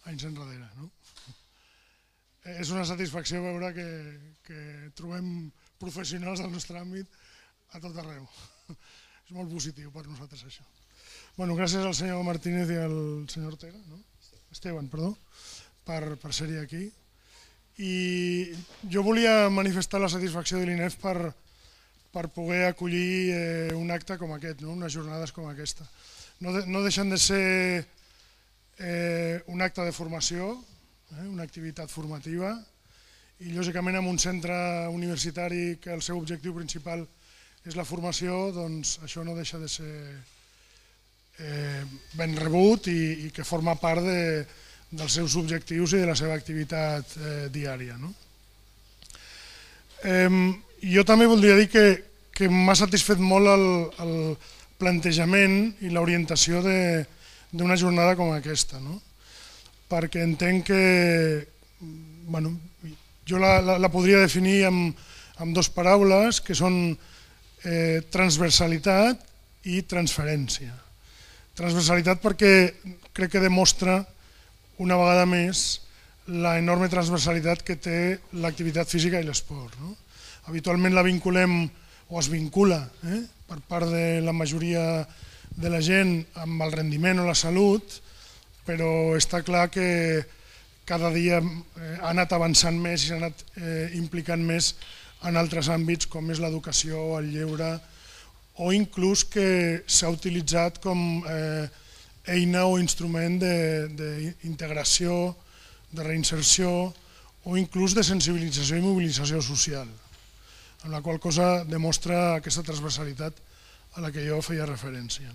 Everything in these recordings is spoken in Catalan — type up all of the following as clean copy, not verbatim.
anys enrere. És una satisfacció veure que trobem professionals del nostre àmbit a tot arreu. És molt positiu per nosaltres això. Gràcies al senyor Martínez i al senyor Ortega, Esteban, perdó, per ser-hi aquí. I jo volia manifestar la satisfacció de l'INEF per poder acollir un acte com aquest, unes jornades com aquesta. No deixen de ser un acte de formació, una activitat formativa, i lògicament en un centre universitari que el seu objectiu principal és la formació, doncs això no deixa de ser ben rebut i que forma part dels seus objectius i de la seva activitat diària. Jo també voldria dir que m'ha satisfet molt el plantejament i l'orientació d'una jornada com aquesta, perquè entenc que jo la podria definir amb dues paraules que són transversalitat i transferència. Transversalitat perquè crec que demostra una vegada més l'enorme transversalitat que té l'activitat física i l'esport. Habitualment la vinculem o es vincula per part de la majoria de la gent amb el rendiment o la salut, però està clar que cada dia ha anat avançant més i s'ha anat implicant més en altres àmbits com és l'educació, el lleure, o inclús que s'ha utilitzat com eina o instrument d'integració, de reinserció o inclús de sensibilització i mobilització social, amb la qual cosa demostra aquesta transversalitat a la que jo feia referència.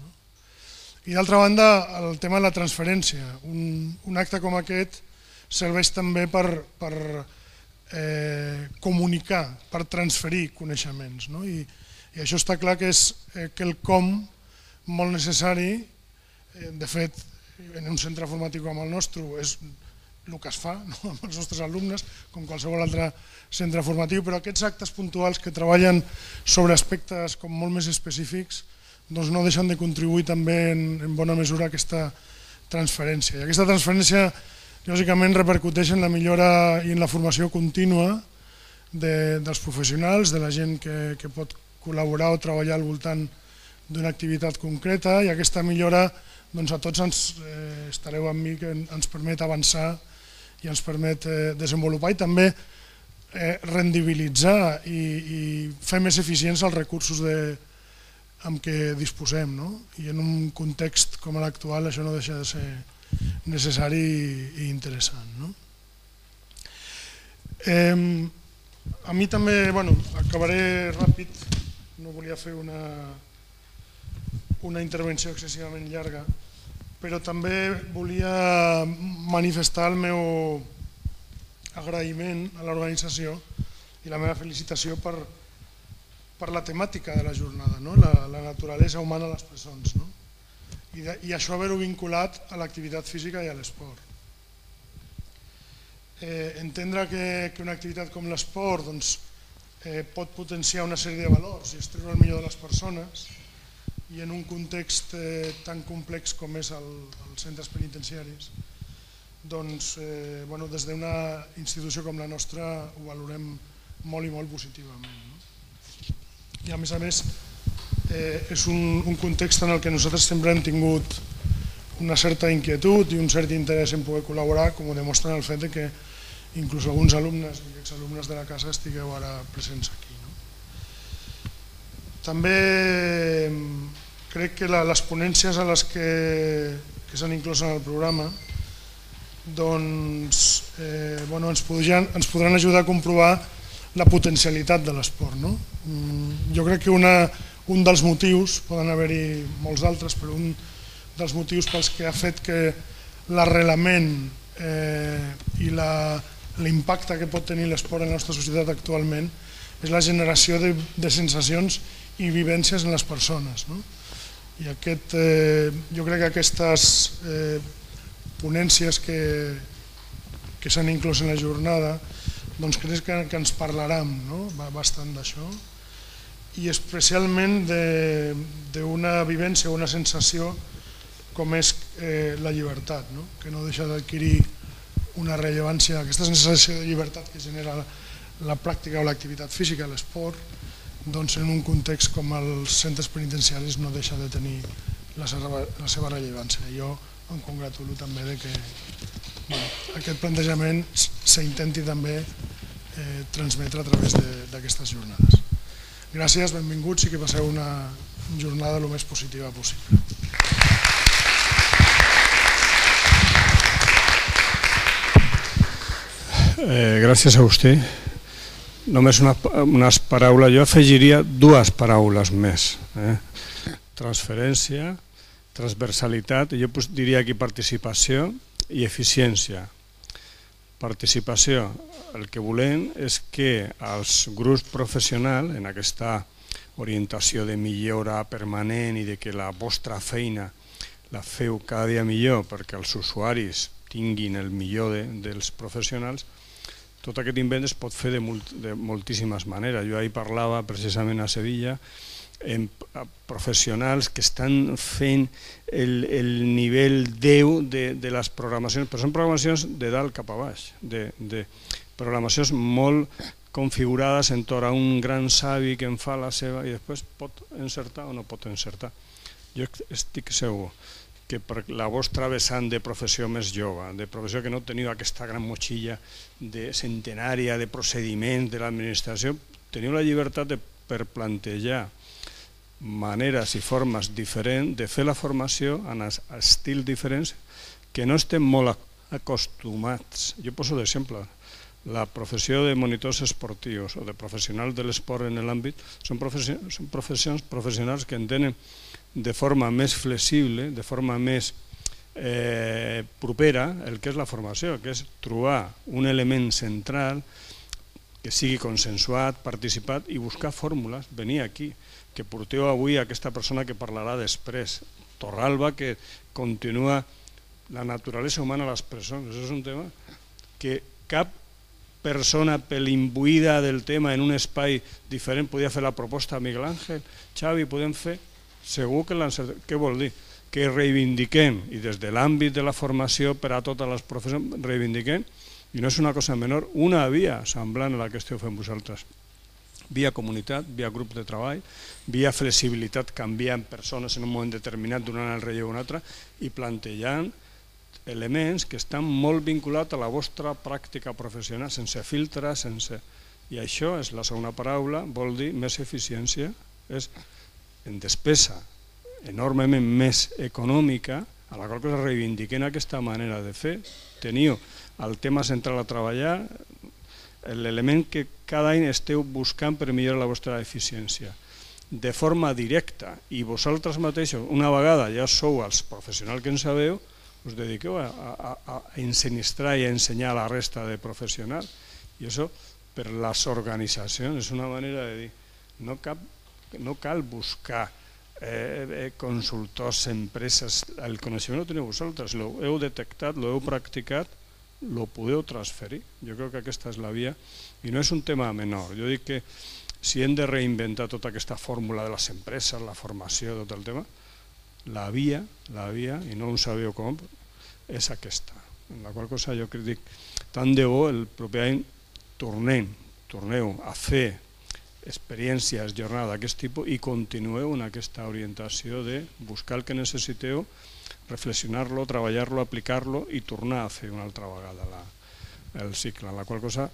I d'altra banda, el tema de la transferència. Un acte com aquest serveix també per comunicar, per transferir coneixements. I això està clar que és quelcom molt necessari. De fet, en un centre formatiu com el nostre és el que es fa amb els nostres alumnes, com qualsevol altre centre formatiu, però aquests actes puntuals que treballen sobre aspectes com molt més específics no deixen de contribuir també en bona mesura a aquesta transferència. I aquesta transferència lògicament repercuteix en la millora i en la formació contínua dels professionals, de la gent que pot col·laborar o treballar al voltant d'una activitat concreta, i aquesta millora a tots estareu amb mi que ens permet avançar i ens permet desenvolupar i també rendibilitzar i fer més eficients els recursos amb què disposem. I en un context com l'actual això no deixa de ser necessari i interessant. A mi també, acabaré ràpid, no volia fer una intervenció excessivament llarga, però també volia manifestar el meu agraïment a l'organització i la meva felicitació per la temàtica de la jornada, la naturalesa humana a les presons, i això haver-ho vinculat a l'activitat física i a l'esport. Entendre que una activitat com l'esport pot potenciar una sèrie de valors i extreure el millor de les persones, i en un context tan complex com és els centres penitenciaris, des d'una institució com la nostra ho valorem molt i molt positivament. I a més és un context en el que nosaltres sempre hem tingut una certa inquietud i un cert interès en poder col·laborar, com ho demostra el fet que inclús alguns alumnes i exalumnes de la casa estigueu ara presents aquí. També crec que les ponències a les que s'han inclòs en el programa ens podran ajudar a comprovar la potencialitat de l'esport. Jo crec que un dels motius, poden haver-hi molts d'altres, però un dels motius pels que ha fet que l'arrelament i l'impacte que pot tenir l'esport en la nostra societat actualment és la generació de sensacions i vivències en les persones. I jo crec que aquestes ponències que s'han inclòs en la jornada crec que ens parlaran bastant d'això, i especialment d'una vivència o una sensació com és la llibertat, que no deixa d'adquirir una rellevància, aquesta sensació de llibertat que genera la pràctica o l'activitat física, l'esport, doncs en un context com els centres penitenciaris no deixa de tenir la seva rellevància. Jo em congratulo també de que aquest plantejament s'intenti també transmetre a través d'aquestes jornades. Gràcies, benvinguts i que passeu una jornada el més positiva possible. Gràcies a vostè. Només unes paraules, jo afegiria dues paraules més. Transferència, transversalitat, jo diria aquí participació i eficiència. Participació, el que volem és que els grups professionals, en aquesta orientació de millora permanent i de que la vostra feina la feu cada dia millor perquè els usuaris tinguin el millor dels professionals, tot aquest invent es pot fer de moltíssimes maneres. Jo ahir parlava precisament a Sevilla amb professionals que estan fent el nivell 10 de les programacions, però són programacions de dalt cap a baix, de programacions molt configurades entorn a un gran savi que en fa la seva i després pot encertar o no pot encertar. Jo estic segur que per la vostra vessant de professió més jove, de professió que no teniu aquesta gran motxilla centenària de procediments de l'administració, teniu la llibertat per plantejar maneres i formes diferents de fer la formació en estils diferents que no estem molt acostumats. Jo poso d'exemple, la professió de monitors esportius o de professionals de l'esport en l'àmbit són professionals que entenen de forma més flexible, de forma més propera el que és la formació, que és trobar un element central que sigui consensuat, participat i buscar fórmules, venir aquí, que porteu avui aquesta persona que parlarà després, Torralba, que continua la naturalesa humana a les presons. Això és un tema que cap persona imbuïda del tema en un espai diferent podia fer la proposta a Miguel Ángel, Xavi, podem fer? Segur que l'encertem. Què vol dir? Que reivindiquem, i des de l'àmbit de la formació per a totes les professions, reivindiquem, i no és una cosa menor, una via semblant a la que esteu fent vosaltres. Via comunitat, via grup de treball, via flexibilitat canviant persones en un moment determinat, donant el relleu a un altre, i plantejant elements que estan molt vinculats a la vostra pràctica professional, sense filtres, i això és la segona paraula, vol dir més eficiència, és en despesa enormement més econòmica, a la qual cosa reivindiquem aquesta manera de fer. Teniu el tema central a treballar, l'element que cada any esteu buscant per millorar la vostra eficiència de forma directa, i vosaltres mateixos, una vegada ja sou els professionals que en sabeu, us dediqueu a ensinistrar i a ensenyar a la resta de professionals, i això per les organitzacions és una manera de dir no cal buscar consultors, empreses, el coneixement ho teniu vosaltres, l'heu detectat, l'heu practicat, lo podeu transferir. Jo crec que aquesta és la via i no és un tema menor. Jo dic que si hem de reinventar tota aquesta fórmula de les empreses, la formació, tot el tema, la via, i no ho sabeu com, és aquesta. En la qual cosa jo dic, tant de bo el proper any torneu a fer experiències, jornada d'aquest tipus i continueu en aquesta orientació de buscar el que necessiteu, reflexionar-lo, treballar-lo, aplicar-lo i tornar a fer una altra vegada el cicle. En la qual cosa,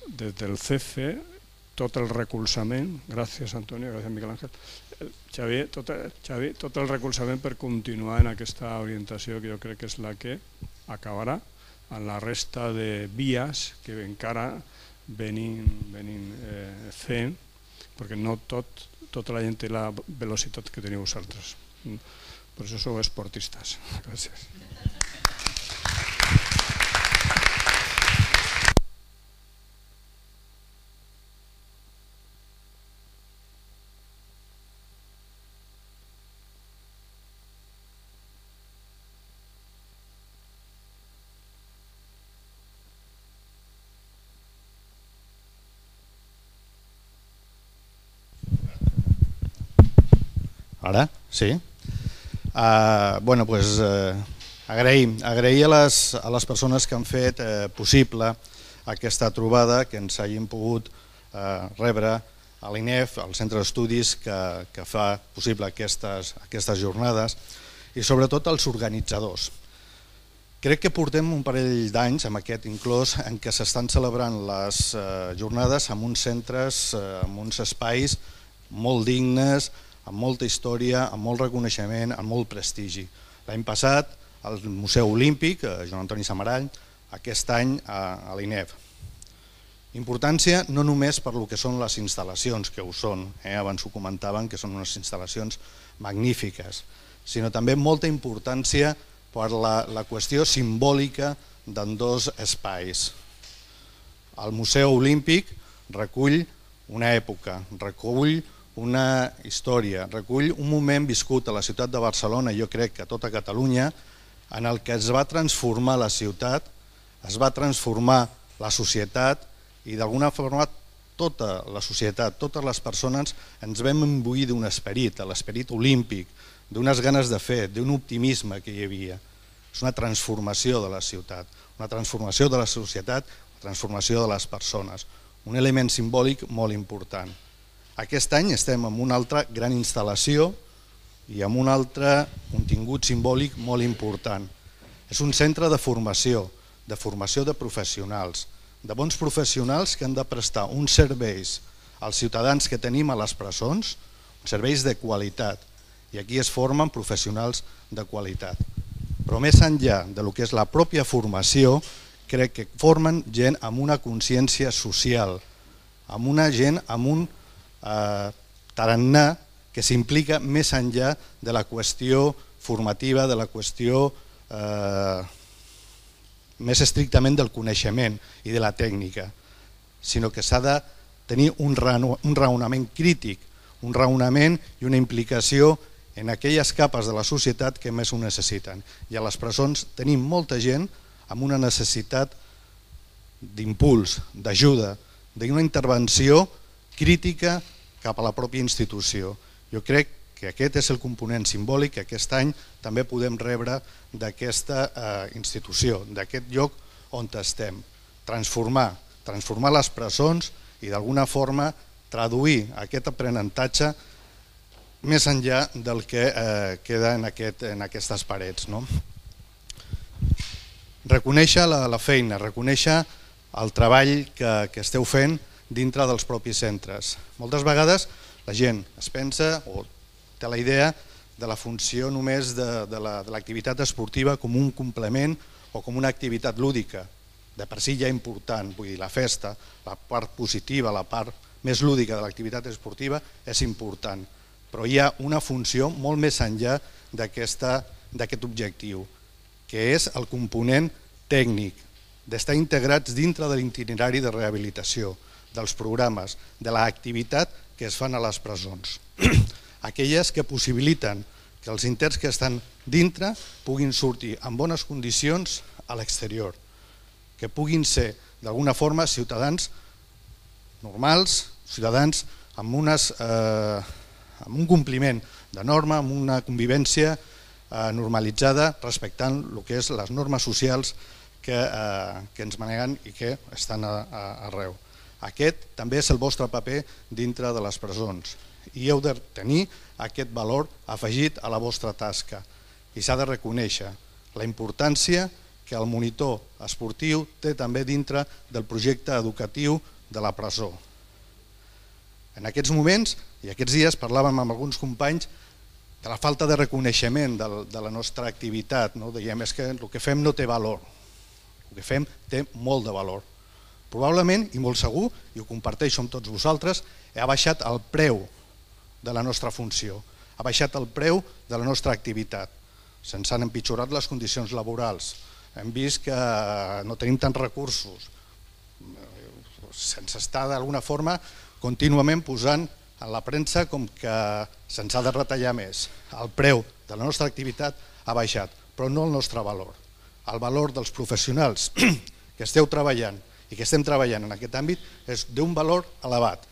des del CEFE, tot el recolzament, gràcies Antonio, gràcies Miguel Ángel, Xavi, tot el recolzament per continuar en aquesta orientació que jo crec que és la que acabarà en la resta de vies que encara venim fent, perquè no tota la gent té la velocitat que teniu vosaltres. Per això sou esportistes. Gràcies. Ara? Sí? Bueno, doncs Agrair a les persones que han fet possible aquesta trobada, que ens hagin pogut rebre a l'INEF, al centre d'estudis que fa possible aquestes jornades, i sobretot als organitzadors. Crec que portem un parell d'anys amb aquest inclòs en què s'estan celebrant les jornades en uns centres, en uns espais molt dignes, amb molta història, amb molt reconeixement, amb molt prestigi. L'any passat al Museu Olímpic, Joan Antoni Samarall, aquest any a l'INEF. Importància no només per lo que són les instal·lacions, que ho són, abans ho comentaven, que són unes instal·lacions magnífiques, sinó també molta importància per la qüestió simbòlica d'ambdós espais. El Museu Olímpic recull una època, recull una història, recull un moment viscut a la ciutat de Barcelona, jo crec que a tota Catalunya, en el que es va transformar la ciutat, es va transformar la societat i d'alguna forma tota la societat, totes les persones ens vam imbuir d'un esperit, l'esperit olímpic, d'unes ganes de fer, d'un optimisme que hi havia. És una transformació de la ciutat, una transformació de la societat, una transformació de les persones, un element simbòlic molt important. Aquest any estem en una altra gran instal·lació i amb un altre contingut simbòlic molt important. És un centre de formació de professionals, de bons professionals que han de prestar uns serveis als ciutadans que tenim a les presons, serveis de qualitat, i aquí es formen professionals de qualitat. Però més enllà del que és la pròpia formació, crec que formen gent amb una consciència social, amb una gent amb un tarannà que s'implica més enllà de la qüestió formativa, de la qüestió més estrictament del coneixement i de la tècnica, sinó que s'ha de tenir un raonament crític, un raonament i una implicació en aquelles capes de la societat que més ho necessiten. I a les presons tenim molta gent amb una necessitat d'impuls, d'ajuda, d'una intervenció crítica cap a la pròpia institució. Jo crec que aquest és el component simbòlic que aquest any també podem rebre d'aquesta institució, d'aquest lloc on estem. Transformar les presons i d'alguna forma traduir aquest aprenentatge més enllà del que queda en aquestes parets. Reconèixer la feina, reconèixer el treball que esteu fent dintre dels propis centres. Moltes vegades la gent es pensa o té la idea de la funció només de l'activitat esportiva com un complement o com una activitat lúdica. De per si ja important, vull dir, la festa, la part positiva, la part més lúdica de l'activitat esportiva és important, però hi ha una funció molt més enllà d'aquest objectiu, que és el component tècnic, d'estar integrats dintre de l'itinerari de rehabilitació, dels programes, de l'activitat que es fan a les presons. Aquelles que possibiliten que els interns que estan dintre puguin sortir en bones condicions a l'exterior, que puguin ser d'alguna forma ciutadans normals, ciutadans amb un compliment de norma, amb una convivència normalitzada respectant el que és les normes socials que ens maneguen i que estan arreu. Aquest també és el vostre paper dintre de les presons i heu de tenir aquest valor afegit a la vostra tasca i s'ha de reconèixer la importància que el monitor esportiu té també dintre del projecte educatiu de la presó. En aquests moments i aquests dies parlàvem amb alguns companys de la falta de reconeixement de la nostra activitat. Dèiem que el que fem no té valor, el que fem té molt de valor. Probablement, i molt segur, i ho comparteixo amb tots vosaltres, ha baixat el preu de la nostra funció, ha baixat el preu de la nostra activitat. Se'ns han empitjorat les condicions laborals, hem vist que no tenim tants recursos, se'ns està d'alguna forma contínuament posant a la premsa com que se'ns ha de retallar més. El preu de la nostra activitat ha baixat, però no el nostre valor. El valor dels professionals que esteu treballant i que estem treballant en aquest àmbit és d'un valor elevat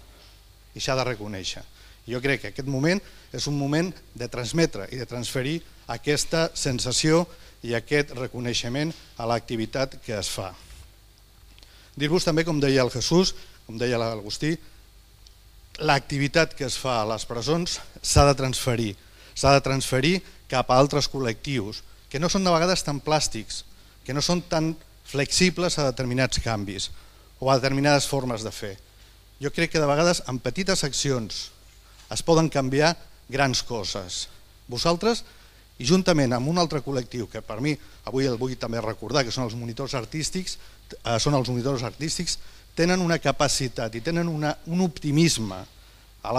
i s'ha de reconèixer. Jo crec que aquest moment és un moment de transmetre i de transferir aquesta sensació i aquest reconeixement a l'activitat que es fa. Dir-vos també, com deia el Jesús, com deia l'Agustí, l'activitat que es fa a les presons s'ha de transferir cap a altres col·lectius, que no són de vegades tan plàstics, que no són tan flexibles a determinats canvis o a determinades formes de fer. Jo crec que de vegades amb petites accions es poden canviar grans coses. Vosaltres, i juntament amb un altre col·lectiu, que per mi avui el vull també recordar, que són els monitors artístics, tenen una capacitat i tenen un optimisme en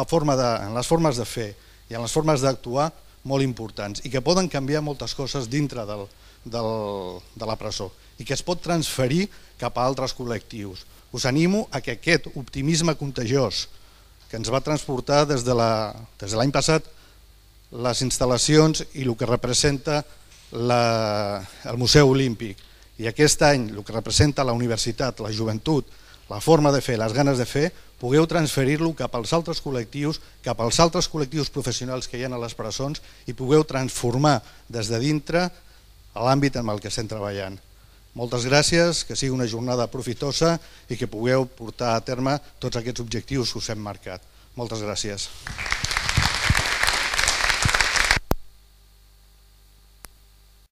les formes de fer i en les formes d'actuar molt importants i que poden canviar moltes coses dintre de la presó i que es pot transferir cap a altres col·lectius. Us animo a que aquest optimisme contagiós que ens va transportar des de l'any passat les instal·lacions i el que representa el Museu Olímpic i aquest any el que representa la universitat, la joventut, la forma de fer, les ganes de fer, pugueu transferir-lo cap als altres col·lectius, cap als altres col·lectius professionals que hi ha a les presons i pugueu transformar des de dintre l'àmbit en el que estem treballant. Moltes gràcies, que sigui una jornada profitosa i que pugueu portar a terme tots aquests objectius que us hem marcat. Moltes gràcies.